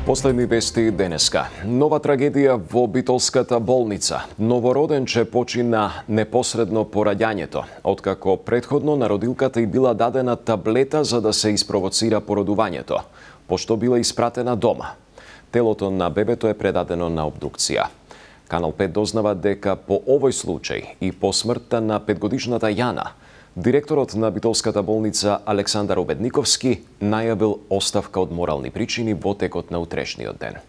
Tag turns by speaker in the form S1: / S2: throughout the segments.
S1: Последни вести денеска. Нова трагедија во Битолската болница. Новороденче почина непосредно по раѓањето, откако претходно на родилката и била дадена таблета за да се испровоцира породувањето, пошто била испратена дома. Телото на бебето е предадено на обдукција. Канал 5 дознава дека по овој случај и по смртта на 5-годишната Јана, директорот на Битолската болница Александар Обедниковски најавил оставка од морални причини во текот на утрешниот ден.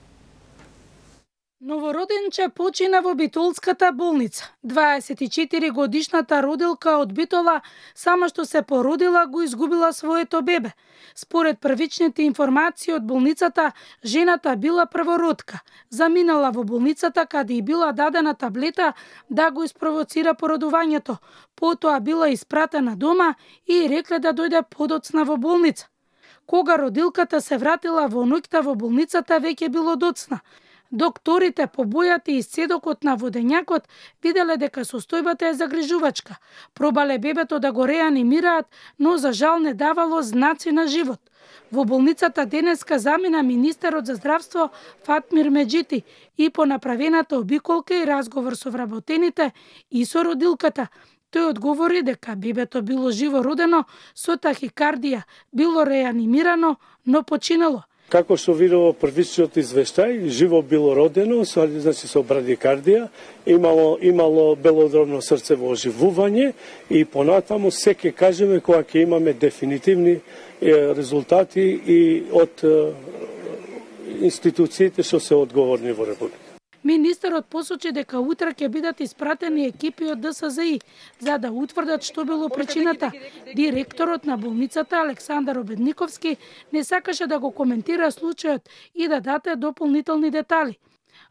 S2: Новороденче почина во Битолската болница. 24-годишната родилка од Битола само што се породила го изгубила своето бебе. Според првичните информации од болницата, жената била првородка. Заминала во болницата каде и била дадена таблета да го испровоцира породувањето. Потоа била испратена дома и рекле да дојде подоцна во болница. Кога родилката се вратила во ноќта во болницата, веќе било доцна. Докторите по бојата и исцедокот на водењакот виделе дека состојбата е загрижувачка. Пробале бебето да го реанимираат, но за жал не давало знаци на живот. Во болницата денеска замина министерот за здравство Фатмир Меджити и по направената обиколка и разговор со вработените и со родилката. Тој одговори дека бебето било живо родено со тахикардија, било реанимирано, но починало.
S3: Како што видово првичниот извештај, живо било родено, значи со брадикардија, имало белодробно срцево оживување и понатаму се ќе кажеме кога ќе имаме дефинитивни резултати и од институциите што се одговорни во Република.
S2: Министерот посочи дека утре ќе бидат испратени екипи од ДСЗИ за да утврдат што било причината. Директорот на болницата Александар Обедниковски не сакаше да го коментира случајот и да даде дополнителни детали.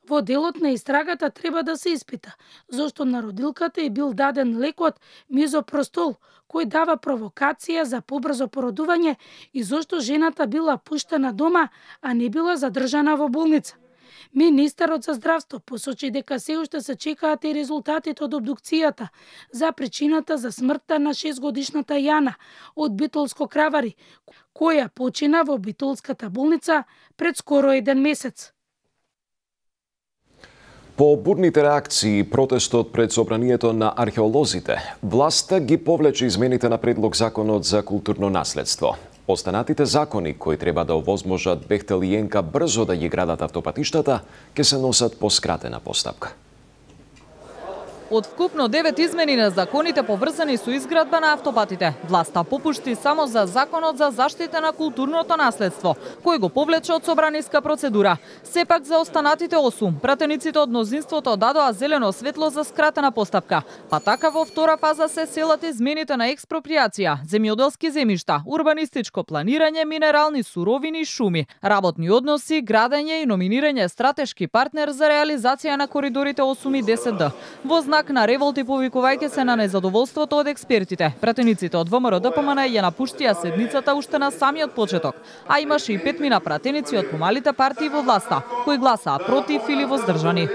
S2: Во делот на истрагата треба да се испита зошто на родилката е бил даден лекот мизопростол, кој дава провокација за побрзо породување и зошто жената била пуштена дома, а не била задржана во болница. Министерот за здравство посочи дека се уште се чекаат и резултатите од обдукцијата за причината за смртта на 6-годишната Јана од Битолско Кравари, која почина во Битолската болница пред скоро 1 месец.
S1: По бурните реакции и протестот пред собранието на археолозите, власта ги повлече измените на предлог законот за културно наследство. Останатите закони кои треба да овозможат Бехтел и Јенка брзо да ги градат автопатиштата, ќе се носат по скратена постапка.
S4: Од вкупно 9 измени на законите поврзани со изградба на автопатите, власта попушти само за Законот за заштита на културното наследство, кој го повлече од собраниска процедура. Сепак за останатите 8, пратениците од мнозинството дадоа зелено светло за скратена постапка. Па така во втора фаза се селат измените на експроприација, земјоделски земјишта, урбанистичко планирање, минерални суровини и шуми, работни односи, градење и номинирање стратешки партнер за реализација на коридорите 8 и 10Д. Во знак на револт и повикувајќи се на незадоволството од експертите, пратениците од ВМРО ДПМН ја напуштија седницата уште на самиот почеток, а имаше и 5 пратеници од помалите партии во власта, кои гласаа против или воздржани.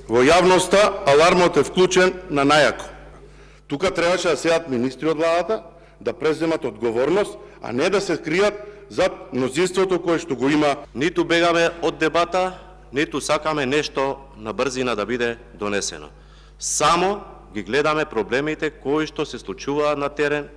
S5: Во јавноста алармот е вклучен на најако. Тука требаше да седат министри од владата, да преземат одговорност, а не да се кријат зад мнозинството кое што го има.
S6: Ниту бегаме од дебата, ниту сакаме нешто на брзина да биде донесено. Само ги гледаме проблемите кои што се случуваат на терен,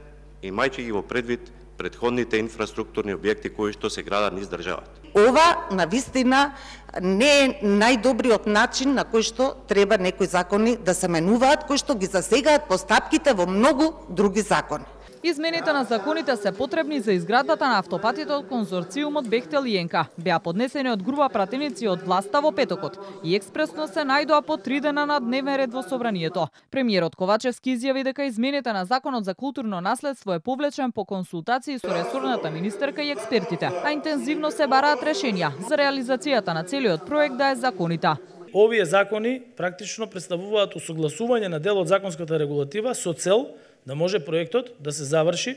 S6: имајќи ги во предвид претходните инфраструктурни објекти кои што се градат низ државата.
S7: Ова навистина не е најдобриот начин на кој што треба некои закони да се менуваат, кои што ги засегаат постапките во многу други закони.
S4: Измените на законите се потребни за изградбата на автопатите од конзорциумот Бехтел и Јенка. Беа поднесени од група пратеници од власта во петокот и експресно се најдоа по 3 дена на дневен ред во собранието. Премиерот Ковачевски изјави дека измените на законот за културно наследство е повлечен по консултации со ресорната министерка и експертите, а интензивно се бараат решенија за реализацијата на целиот проект да е законита.
S8: Овие закони практично представуваат усогласување на дел од законската регулатива со цел да може проектот да се заврши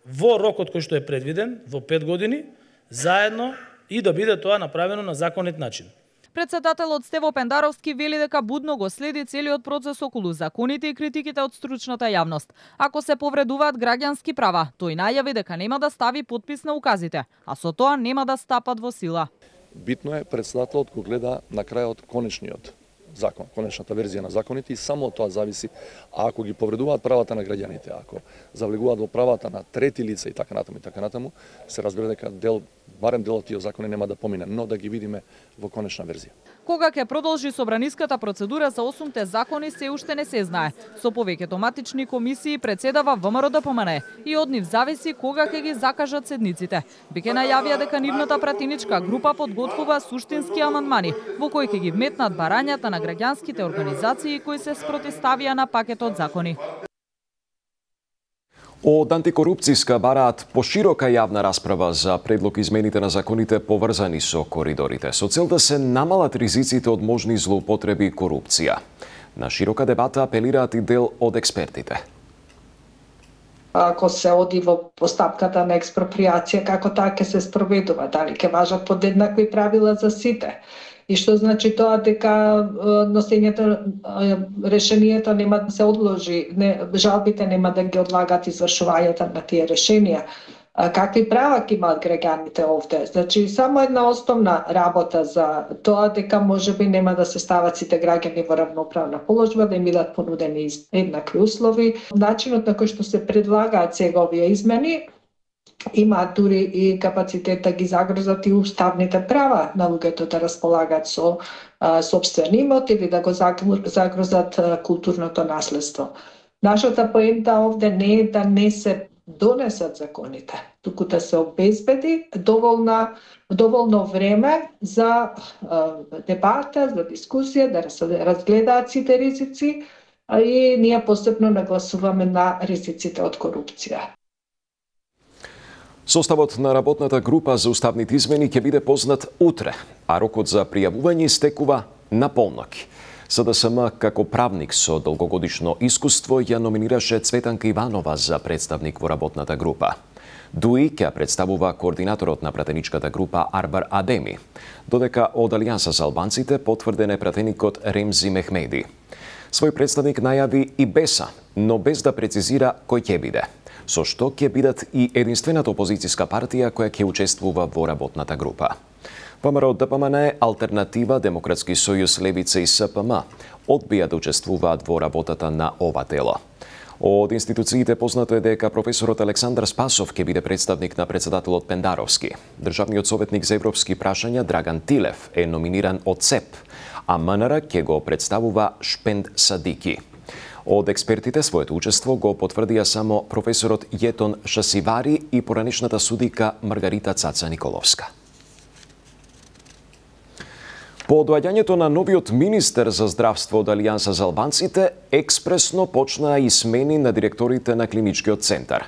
S8: во рокот кој што е предвиден, во 5 години, заедно и да биде тоа направено на законит начин.
S4: Председателот Стево Пендаровски вели дека будно го следи целиот процес околу законите и критиките од стручната јавност. Ако се повредуваат граѓански права, тој најави дека нема да стави подпис на указите, а со тоа нема да стапат во сила.
S9: Битно е председателот го гледа на крајот конечниот закон, конечната верзија на законите и само од тоа зависи. А ако ги повредуваат правата на граѓаните, ако завлегуваат во правата на трети лица и така натаму, се разбира дека барем дел од тие закони нема да помине, но да ги видиме во конечна верзија.
S4: Кога ќе продолжи собраниската процедура за 8 закони се уште не се знае. Со повеќето матични комисии председава ВМРО-ДПМНЕ и од нив зависи кога ќе ги закажат седниците. Беќе најавија дека нивната пратеничка група подготвува суштински амандмани во кои ќе ги вметнат барањата на граѓанските организации кои се спротивставија на пакетот закони.
S1: Од антикорупцијска бараат поширока јавна расправа за предлог измените на законите поврзани со коридорите, со цел да се намалат ризиците од можни злоупотреби и корупција. На широка дебата апелираат и дел од експертите.
S10: Ако се оди во постапката на експроприација, како таа ќе се спроведува, дали ќе важат подеднакви правила за сите? И што значи тоа дека носењето решението нема да се одложи, жалбите нема да ги одлагат извршувањето на тие решенија. Какви права ќе имаат граѓаните овде? Значи само една основна работа за тоа дека можеби нема да се стават сите граѓани во равноправна положба, да им бидат понудени еднакви услови. Начинот на кој што се предлагаат сега овие измени имаат дури и капацитет да ги загрозат и уставните права на луѓето да располагаат со сопствен имот или да го загрозат културното наследство. Нашата поента овде не е да не се донесат законите, туку да се обезбеди доволно време за дебата, за дискусија, да се разгледаат сите ризици и ние посебно нагласуваме на ризиците од корупција.
S1: Составот на работната група за уставните измени ќе биде познат утре, а рокот за пријавување истекува на полноќ. СДСМ како правник со долгогодишно искуство ја номинираше Цветанка Иванова за представник во работната група. ДУИ ќе представува координаторот на пратеничката група Арбар Адеми, додека од Алијанса за албанците потврден е пратеникот Ремзи Мехмеди. Свој представник најави и БЕСА, но без да прецизира кој ќе биде, со што ќе бидат и единствената опозицијска партија која ќе учествува во работната група. ВМРО-ДПМНЕ, Алтернатива, Демократски сојуз, Левица и СПМ одбија да учествуваат во работата на ова тело. Од институциите познато е дека професорот Александар Спасов ќе биде представник на председателот Пендаровски. Државниот советник за европски прашања Драган Тилев е номиниран од ЦЕП, а МНР ќе го представува Шпенд Садики. Од експертите своето учество го потврдија само професорот Јетон Шасивари и поранешната судика Маргарита Цаца Николовска. По доаѓањето на новиот министер за здравство од Алијанса за албанците, експресно почнаа и смени на директорите на клиничкиот центар.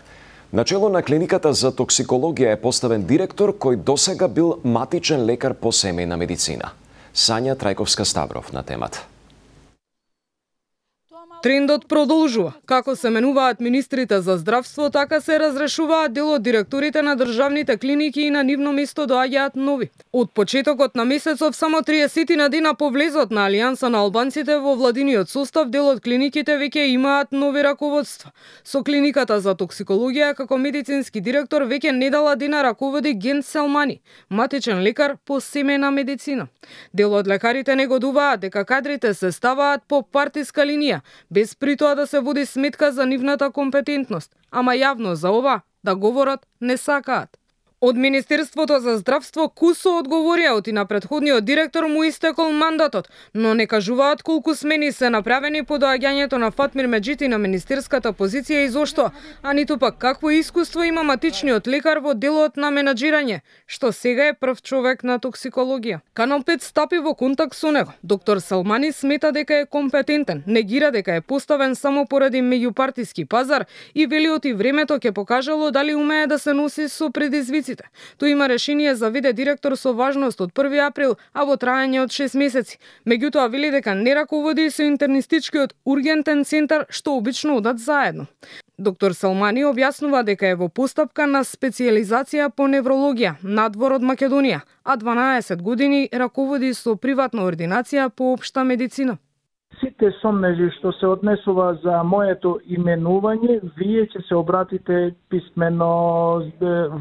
S1: Начело на клиниката за токсикологија е поставен директор кој досега бил матичен лекар по семејна медицина. Сања Трајковска-Ставров на темата.
S11: Трендот продолжува. Како се менуваат министрите за здравство, така се разрешуваат дел од директорите на државните клиники и на нивно место доаѓаат нови. Од почетокот на месецов, само 30 на дена по влезот на Алијанса на албанците во владиниот состав, дел од клиниките веќе имаат нови раководства. Со клиниката за токсикологија како медицински директор веќе недела дена раководи Ген Селмани, матичен лекар по семејна медицина. Дел од лекарите негодуваат дека кадрите се ставаат по партиска линија, без при тоа да се води сметка за нивната компетентност, ама јавно за ова да говорат не сакаат. Од Министерството за здравство кусо одговорија оти на претходниот директор му истекол мандатот, но не кажуваат колку смени се направени по доаѓањето на Фатмир Меджити на министерската позиција и зошто, а ниту пак какво искуство има матичниот лекар во делот на менаџирање, што сега е прв човек на токсикологија. Канал 5 стапи во контакт со него. Доктор Салмани смета дека е компетентен, негира дека е поставен само поради меѓупартиски пазар и вели оти времето ќе покажало дали умее да се носи со предизвиците. Тој има решение за виде директор со важност од 1 април, а во трајање од 6 месеци. Меѓутоа вели дека не раководи со интернистичкиот ургентен центар, што обично одат заедно. Доктор Салмани објаснува дека е во постапка на специјализација по неврологија надвор од Македонија, а 12 години раководи со приватна ординација по општа медицина.
S12: Сите сомнежи што се однесува за моето именување, вие ќе се обратите писмено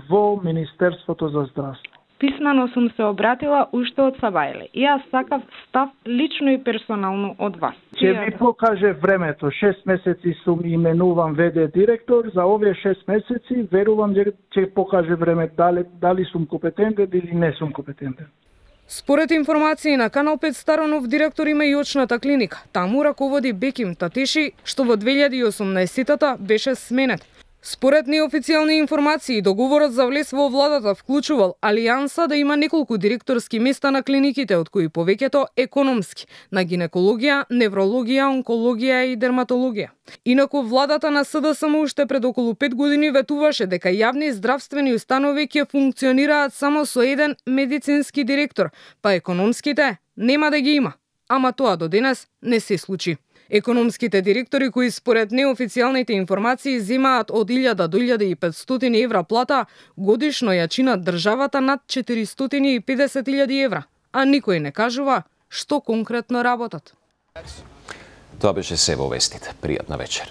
S12: во Министерството за здравство.
S13: Писмено сум се обратила уште од Сабајле. И јас сакав став лично и персонално од вас.
S12: Ќе ми покаже времето. 6 месеци сум именуван ВД директор. За овие 6 месеци верувам дека ќе покаже време дали сум компетентен или не сум компетентен.
S11: Според информации на Канал 5 Старонов, директор има и очната клиника. Таму раководи Беким Татиши, што во 2018-та беше сменет. Според неофицијални информации, договорот за влез во владата вклучувал алијанса да има неколку директорски места на клиниките, од кои повеќето економски, на гинекологија, неврологија, онкологија и дерматологија. Инаку владата на СДСМ уште пред околу 5 години ветуваше дека јавни здравствени установи ќе функционираат само со еден медицински директор, па економските нема да ги има. Ама тоа до денес не се случи. Економските директори кои според неофицијалните информации земаат од 1000 до 1500 евра плата, годишно ја чинат државата над 450.000 евра, а никој не кажува што конкретно работат.
S1: Тоа беше се во вестите. Пријатна вечер.